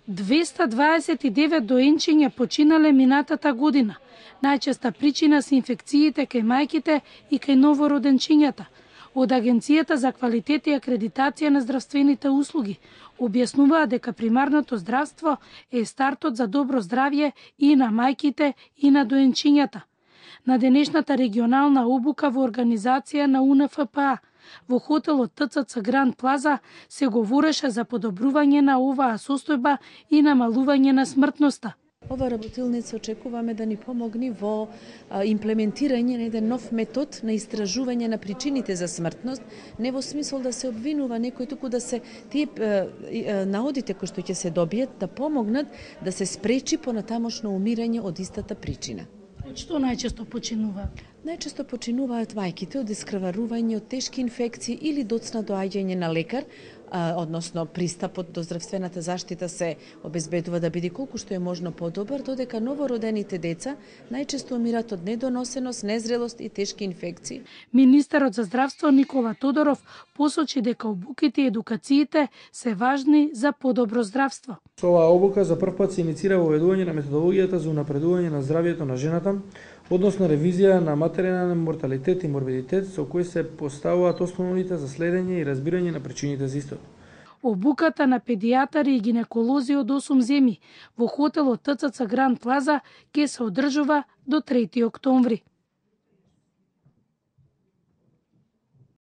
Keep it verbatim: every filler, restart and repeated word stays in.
двеста дваесет и девет доенчиња починале минатата година. Најчеста причина се инфекциите кај мајките и кај новороденчињата. Од Агенцијата за квалитет и акредитација на здравствените услуги објаснуваа дека примарното здравство е стартот за добро здравје и на мајките и на доенчињата. На денешната регионална обука во организација на У Н Ф П А во хотелот Т Ц Ц Гранд Плаза се говореше за подобрување на оваа состојба и намалување на смртноста. Ова работилница очекуваме да ни помогне во имплементирање на еден нов метод на истражување на причините за смртност, не во смисол да се обвинува некој, туку да се тие наодите кои што ќе се добијат да помогнат да се спречи понатамошно умирање од истата причина. Од што најчесто починуваат? Најчесто починуваат мајките од искрварување, од тешки инфекции или доцна доаѓање на лекар, односно пристапот до здравствената заштита се обезбедува да биде колку што е можно подобар, додека новородените деца најчесто умират од недоносеност, незрелост и тешки инфекции. Министерот за здравство Никола Тодоров посочи дека обуките и едукациите се важни за подобро здравство. Со оваа обука за прв пат се иницира воведување на методологијата за унапредување на здравјето на жената, односно ревизија на материјален морталитет и морбидитет, со кои се поставуваат основите за следење и разбирање на причините за истото. Обуката на педијатари и гинеколози од осум земји во хотелот Т Ц Ц Гранд Плаза ќе се одржува до трети октомври.